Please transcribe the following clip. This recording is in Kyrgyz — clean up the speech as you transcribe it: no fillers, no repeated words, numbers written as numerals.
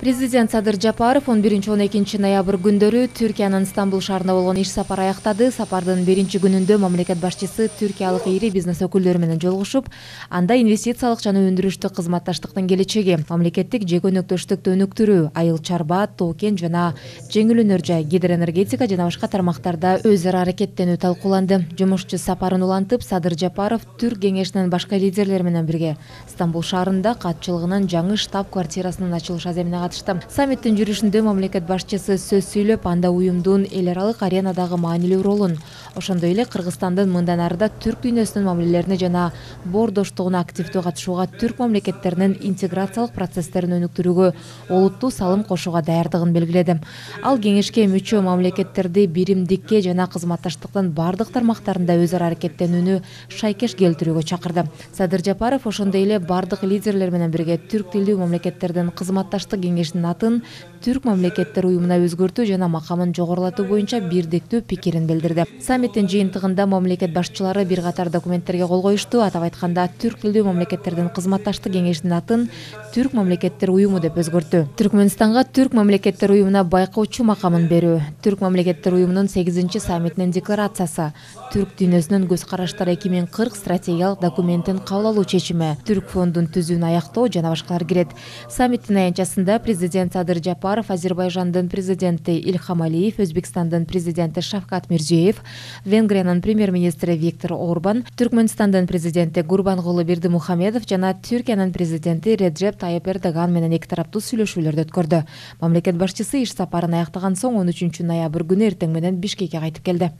Президент Садыр Жапаров 11-12 ноябрь күндөрү Түркиянын Стамбул шаарында болгон иш сапар аяктады. Сапардын биринчи күнүндө мамлекет башчысы түркиялык ири бизнес өкүлдөрү менен жолугушуп, анда инвестициялык жана өндүрүштүк кызматташтыктын келечеги, мамлекеттик жеке өнөктөштүктү өнүктүрүү, айыл чарба, тоо-кен жана жеңил өнөр жай, гидроэнергетика жана башка тармактарда өз ара аракеттенүү талкууланды. Жумушчу сапарын улантып, Садыр Жапаров Түрк кеңешинин башка лидерлери менен бирге Стамбул шаарында катчылыгынын жаңы штаб-квартирасынын ачылыш аземине катышты. Саммиттин жүрүшүндө мамлекет башчысы сөз сүйлөп, анда уюмдун эл аралык аренадагы маанилүү ролун, ошондой эле Кыргызстандын мындан арыда түрк дүйнөсүнүн мамилелерине жана боордоштугуна активдүү катышууга, түрк мамлекеттеринин интеграциялык процесстерин өнүктүрүүгө олуттуу салым кошууга даярдыгын белгиледи. Ал кеңешке мүчө мамлекеттерди биримдикке жана кызматташтыктын бардык тармактарында өз ара аракеттенүүнү шайкеш келтирүүгө чакырды. Садыр Жапаров ошондой эле бардык лидерлер менен бирге түрк тилдүү мамлекеттердин кызматташтык кеңешинин атын Түрк мамлекеттер уюмуна өзгөртүү жана макамын жогорулатуу боюнча бирдиктүү пикирин билдирди. Саммиттин жыйынтыгында мамлекет башчылары бир катар документтерге кол коюшту. Атап айтканда, түрк тилдүү мамлекеттердин кызматташтык кеңешинин атын Түрк мамлекеттер уюму деп өзгөрттү. Түркмөнстанга Түрк мамлекеттер уюмуна байкоочу макамын берүү, Түрк мамлекеттер уюмунун 8-чи саммитинин декларациясы, түрк дүйнөсүнүн көз караштары 2040 стратегиялык документин кабыл алуу чечими, Түрк фондун түзүүнү аяктоо жана башкалар кирет. Саммиттин аянтчасында президент Садыр Жапаров, Азербайжандын президенти Ильхам Алиев, Өзбекстандын президенти Шавкат Мирзиёев, Венгриянын премьер-министри Виктор Орбан, Түркмөнстандын президенти Гурбангулы Бердимухамедов жана Түркиянын президенти Реджеп Тайып Эрдоган менен эки тараптуу сүйлөшүүлөрдү өткөрдү. Мамлекет башчысы иш сапарын аяктаган соң 13 ноябрь күнү эртең менен Бишкекке кайтып келди.